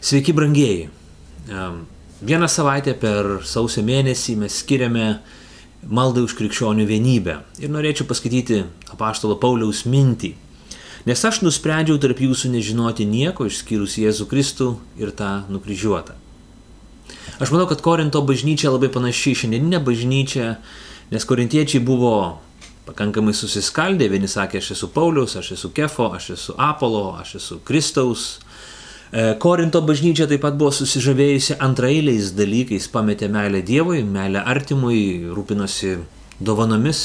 Sveiki, brangieji. Vieną savaitę per sausio mėnesį mes skiriame maldai už krikščionių vienybę. Ir norėčiau paskaityti apaštalo Pauliaus mintį. Nes aš nusprendžiau tarp jūsų nežinoti nieko išskyrus Jėzų Kristų ir tą nukryžiuotą. Aš manau, kad Korinto bažnyčia labai panaši į šiandieninę bažnyčią, nes korintiečiai buvo pakankamai susiskaldę. Vieni sakė, aš esu Pauliaus, aš esu Kefo, aš esu Apolo, aš esu Kristaus. Korinto bažnyčia taip pat buvo susižavėjusi antraeiliais dalykais, pametė meilę Dievui, meilę artimui, rūpinosi dovanomis,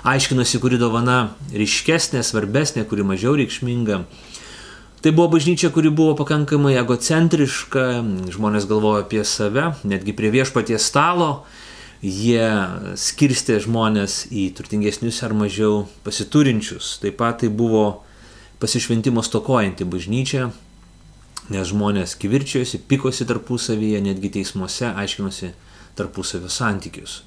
aiškinosi, kuri dovana ryškesnė, svarbesnė, kuri mažiau reikšminga. Tai buvo bažnyčia, kuri buvo pakankamai egocentriška, žmonės galvojo apie save, netgi prie viešpaties stalo jie skirstė žmonės į turtingesnius ar mažiau pasiturinčius. Taip pat tai buvo pasišventimo stokojanti bažnyčia, nes žmonės kivirčijosi, pikosi tarpusavyje, netgi teismuose aiškinosi tarpusavio santykius.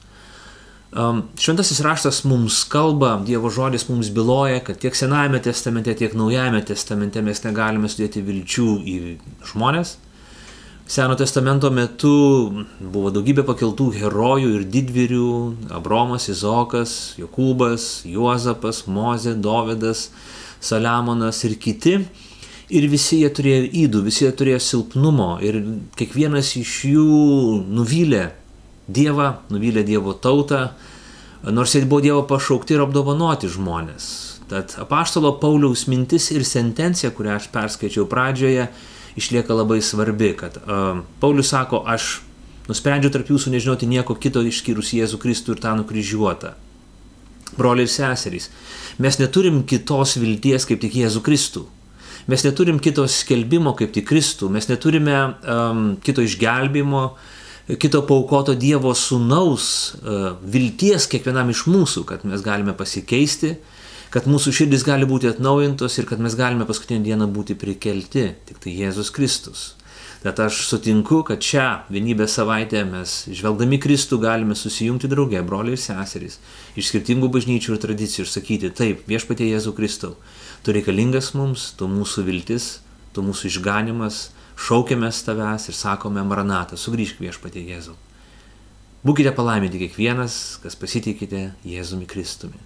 Šventasis raštas mums kalba, Dievo žodis mums byloja, kad tiek Senajame testamente, tiek Naujajame testamente mes negalime sudėti vilčių į žmonės. Seno testamento metu buvo daugybė pakeltų herojų ir didvyrių – Abraomas, Izaokas, Jokūbas, Juozapas, Mozė, Dovydas, Saliamonas ir kiti. Ir visi jie turėjo ydų, visi jie turėjo silpnumo ir kiekvienas iš jų nuvylė Dievą, nuvylė Dievo tautą, nors jie buvo Dievo pašaukti ir apdovanoti žmonės. Tad apaštalo Pauliaus mintis ir sentencija, kurią aš perskaičiau pradžioje, išlieka labai svarbi, kad Paulius sako, aš nusprendžiau tarp jūsų nežinoti nieko kito išskyrus Jėzų Kristų ir tą nukryžiuotą. Broliai ir seserys, mes neturim kitos vilties kaip tik Jėzų Kristų. Mes neturim kito skelbimo kaip tik Kristų, mes neturime kito išgelbimo, kito paaukoto Dievo sūnaus vilties kiekvienam iš mūsų, kad mes galime pasikeisti, kad mūsų širdis gali būti atnaujintos ir kad mes galime paskutinę dieną būti prikelti, tik tai Jėzus Kristus. Tad aš sutinku, kad šią vienybės savaitę mes, žvelgdami Kristų, galime susijungti drauge, broliai ir seserys, iš skirtingų bažnyčių ir tradicijų ir sakyti, taip, viešpatie Jėzų Kristau, tu reikalingas mums, tu mūsų viltis, tu mūsų išganimas, šaukiamės tavęs ir sakome, Maranatą, sugrįžk viešpatie Jėzau. Būkite palaiminti kiekvienas, kas pasitikite Jėzumi Kristumi.